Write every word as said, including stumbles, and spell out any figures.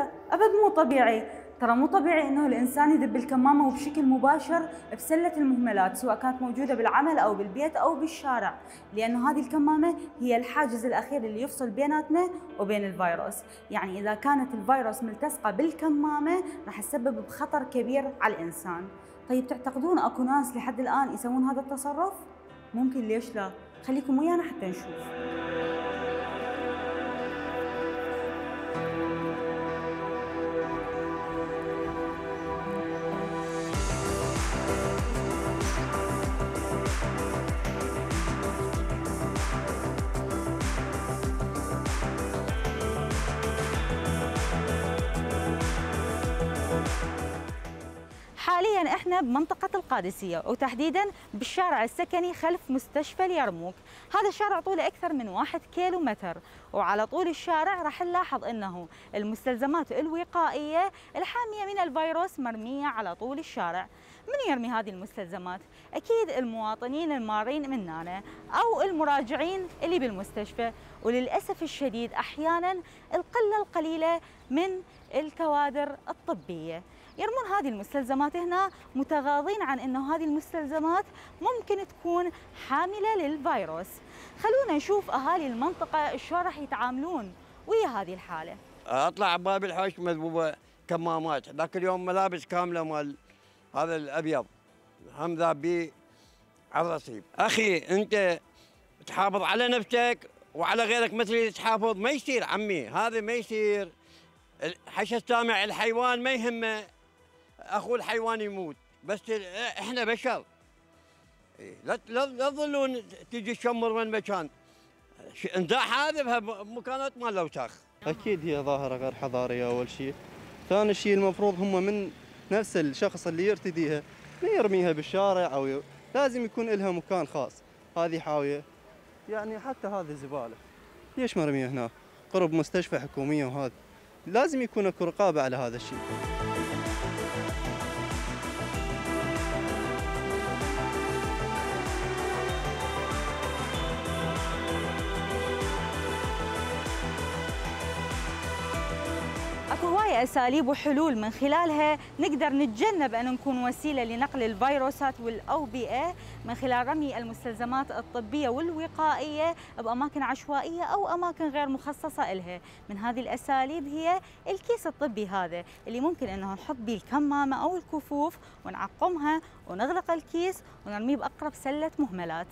لا ابد مو طبيعي. ترى مو طبيعي انه الانسان يدب الكمامه وبشكل مباشر بسله المهملات، سواء كانت موجوده بالعمل او بالبيت او بالشارع، لانه هذه الكمامه هي الحاجز الاخير اللي يفصل بيناتنا وبين الفيروس. يعني اذا كانت الفيروس ملتصقه بالكمامه راح تسبب بخطر كبير على الانسان. طيب تعتقدون اكو ناس لحد الان يسوون هذا التصرف؟ ممكن، ليش لا؟ خليكم ويانا حتى نشوف. حاليا احنا بمنطقة القادسية، وتحديدا بالشارع السكني خلف مستشفى اليرموك. هذا الشارع طوله اكثر من واحد كيلو متر، وعلى طول الشارع راح نلاحظ انه المستلزمات الوقائية الحامية من الفيروس مرمية على طول الشارع. من يرمي هذه المستلزمات؟ اكيد المواطنين المارين مننا او المراجعين اللي بالمستشفى، وللاسف الشديد احيانا القلة القليلة من الكوادر الطبية يرمون هذه المستلزمات هنا، متغاضين عن انه هذه المستلزمات ممكن تكون حاملة للفيروس. خلونا نشوف اهالي المنطقة شلون راح يتعاملون ويا هذه الحالة. اطلع باب الحوش مذبوبة كمامات، ذاك اليوم ملابس كاملة مال هذا الابيض هم ذابي على الرصيف. اخي انت تحافظ على نفسك وعلى غيرك مثل تحافظ، ما يصير عمي، هذا ما يصير. حش السامع الحيوان ما يهمه اخو الحيوان يموت، بس احنا بشر. لا لا تظلون تجي تشمر من مكان، انزاح هذا بمكانات مال الاوساخ. اكيد هي ظاهره غير حضاريه اول شيء، ثاني شيء المفروض هم من نفس الشخص اللي يرتديها ما يرميها بالشارع، او ي... لازم يكون لها مكان خاص. هذه حاويه يعني، حتى هذه زباله ليش مرميه هنا قرب مستشفى حكوميه؟ وهذا لازم يكون اكو رقابه على هذا الشيء. اكو هواية اساليب وحلول من خلالها نقدر نتجنب ان نكون وسيله لنقل الفيروسات والاوبئه، من خلال رمي المستلزمات الطبيه والوقائيه باماكن عشوائيه او اماكن غير مخصصه لها. من هذه الاساليب هي الكيس الطبي هذا اللي ممكن انه نحط به الكمامه او الكفوف ونعقمها ونغلق الكيس ونرميه باقرب سله مهملات.